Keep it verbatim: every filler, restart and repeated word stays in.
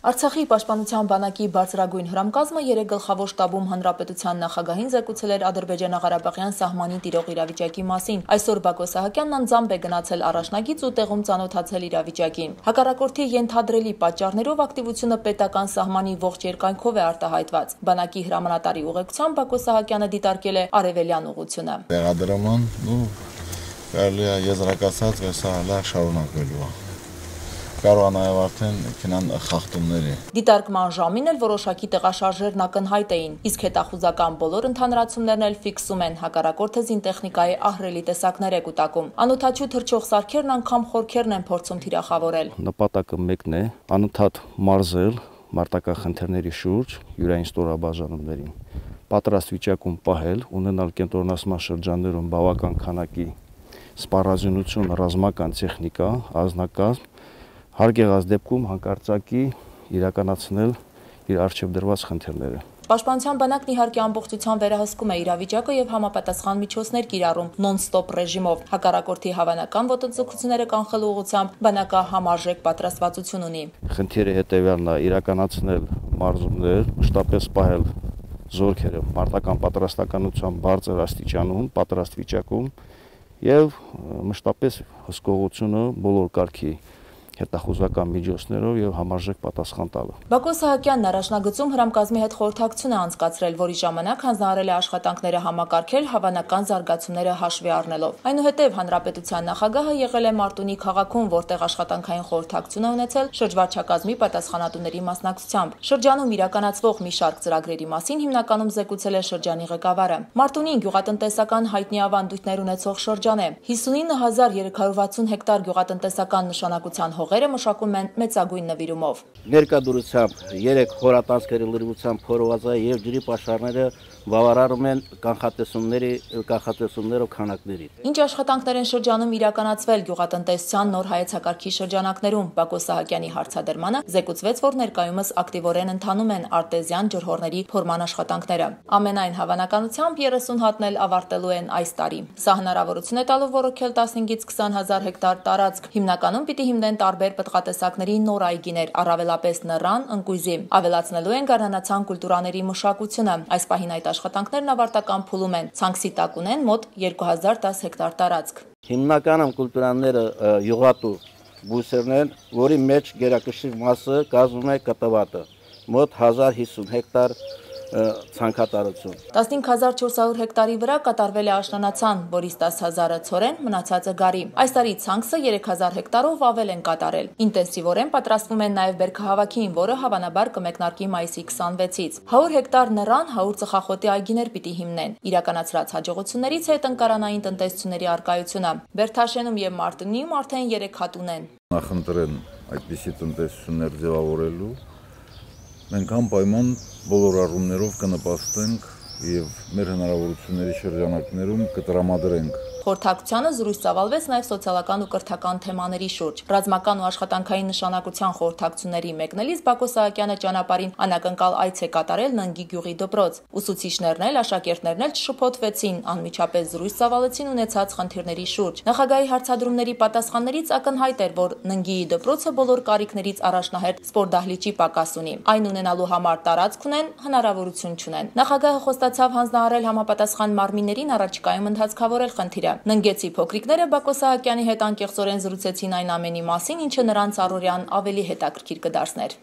Արցախի պաշտպանության բանակի բարձրագույն հրամկազմը երեք գլխավոր շտաբում հանրապետության նախագահին զեկուցել էր Ադրբեջանա-Ղարաբաղյան սահմանին տիրող իրավիճակի մասին։ Այսօր Բակո Սահակյանն անձամբ է գնացել առաջնագիծ ու տեղում ծանոթացել իրավիճակին։ Հակառակորդի ենթադրելի պատճառներով ակտիվությունը պետական սահմանի ողջ երկայնքով է արտահայտված։ Բանակի հրամանատարի ուղեկցությամբ Բակո Սահակյանը դիտարկել է արևելյան ուղղությունը։ Տեղադրման ու կարելի է եզրակացած սա լավ շարունակվելու է։ Կարող է նաև արդեն քնան խախտումների։ Դիտարկման ժամին էլ որոշակի տեղաշարժերն ակնհայտ էին, իսկ հետախուզական բոլոր ընդհանրացումներն էլ ֆիքսում են, հակառակորդը զինտեխնիկայի ահռելի տեսակներ է կուտակում։ Անօդաչու թռչող սարքերն անգամ խորքերն են փորձում թիրախավորել։ Նպատակը մեկն է՝ անընդհատ մարզել մարտական խնդիրների շուրջ յուրային ստորաբաժանումներին, պատրաստ վիճակում պահել, ունենալ կենտրոնացման շրջաններում բավական քանակի սպառազինություն, ռազմական տեխնիկա, անձնակազմ, հարկ եղած դեպքում հանկարծակի իրականացնել իր առջև դրված խնդիրները։ Պաշտպանության բանակն իհարկե ամբողջությամբ վերահսկում է իրավիճակը եւ համապատասխան միջոցներ կիրառում նոն-ստոպ ռեժիմով։ Հակառակորդի հավանական ոտնձգությունները կանխելու ուղղությամբ բանակը համարժեք պատրաստվածություն ունի։ Խնդիրը հետեւյալն է՝ իրականացնել մարզումներ, մշտապես պահել զորքերը մարտական պատրաստականության բարձր աստիճանում, պատրաստ վիճակում եւ մշտապես հսկողությունը բոլոր կարգի հետախուզական միջոցներով եւ համարժեք պատասխան տալու։ Բակո Սահակյանն առաջնագծում հրամկազմի հետ խորհրդակցություն է անցկացրել, որի ժամանակ հանձնարարել է աշխատանքները համակարգել հավանական զարգացումները հաշվի առնելով։ Այնուհետև հանրապետության նախագահը եղել է Մարտունի քաղաքում, որտեղ աշխատանքային խորհրդակցություն է ունեցել շրջվարչակազմի պատասխանատուների մասնակցությամբ։ Շրջանում իրականացվող մի շարք ծրագրերի մասին հիմնականում զեկուցել է շրջանի ղեկավարը։ Մարտունին գյուղատնտեսական հայտնի ավանդույթներ ունեցող շրջան է։ հիսունինը հազար երեք հարյուր վաթսուն հեկտար գյուղատնտեսական նշանակության հողերը մշակում են մեծագույն նվիրումով։ Ներկայությամբ երեք խորատանցքերի լրիվությամբ փորված է եւ ջրի պաշարները բավարարում են կանխատեսումների կանխատեսումներով քանակների։ Ինչ աշխատանքներ են շրջանում իրականացվել գյուղատնտեսության նոր հայեցակարգի շրջանակներում, Բակո Սահակյանի հարցադրմանը զեկուցվեց, որ ներկայումս ակտիվորեն ընթանում են արտեզյան ջրհորների փորման աշխատանքները։ Ամենայն հավանականությամբ երեսուն հատն էլ ավարտելու են այս տարի։ Սա հնարավորություն է տալու ոռոգել տասնհինգից քսան հազար հեկտար տարածք։ Հիմնականում պիտի հիմնեն տարբեր պտղատեսակների նոր այգիներ, առավելապես նռան, ընկույզի։ Ավելացնելու են գարնանացան կուլտուրաների մշակությունը։ Այս պահին այդ աշխատանքներն ավարտական փուլում են։ Ցանքսի տակ ունեն մոտ երկու հազար դաս հեկտար տարածք։ Հիմնականում կուլտուրաները յուղատու բույսերն են, որի մեջ գերակշիռ մասը կազմում է կտավատը, մոտ հազար հիսուն հեկտար ցանքատարություն։ տասնհինգ հազար չորս հարյուր հեկտարի վրա կատարվել է աշնանացան, որից տասը հազարը ցորեն, մնացածը գարի։ Այս տարի ցանքսը երեք հազար հեկտարով ավել են կատարել։ Ինտենսիվորեն պատրաստվում են նաև բերքահավաքին, որը հավանաբար կմեկնարկի մայիսի քսանվեցից։ հարյուր հեկտար նռան, հարյուր ծխախոտի այգիներ պիտի հիմնեն։ Իրականացրած հաջողություններից հետ ընկարանային տնտեսությունների արկայությունը։ Բերթաշենում եւ Մարտունիում արդեն երեք հատ ունեն։ Նախընտրեն այդպիսի տնտեսություններ ձևավորելու մենք անպայման բոլոր առումներով կնպաստենք եւ մեր հնարավորությունների շրջանակներում կտրամադրենք։ Խորհրդակցությանը զրույց ծավալվեց նաև սոցիալական ու կրթական թեմաների շուրջ։ Ռազմական ու աշխատանքային նշանակության խորհրդակցությունների մեկնելիս Բակո Սահակյանը ճանապարհին անակնկալ այց է կատարել Ննգի գյուղի դպրոց։ Ուսուցիչներն էլ, աշակերտներն էլ չշփոթվեցին, անմիջապես զրույց ծավալեցին ունեցած խնդիրների շուրջ։ Նախագահի հարցադրումների պատասխաններից ակնհայտ էր, որ Ննգիի դպրոցը բոլոր կարիքներից առաջնահերթ սպորտդահլիճի պակաս ունի։ Այն ունենալու համար տարածք ունեն, հնարավորություն չունեն։ Նախագահը խոստացավ հանձնարարել համապատասխան մարմիններին առաջիկայում ընդհանցքավորել խնդիրը։ Ննգեցի փոքրիկները Բակո Սահակյանի հետ անկեղծորեն զրուցեցին այն ամենի մասին, ինչը նրանց առօրյան ավելի հետաքրքիր կդարձներ։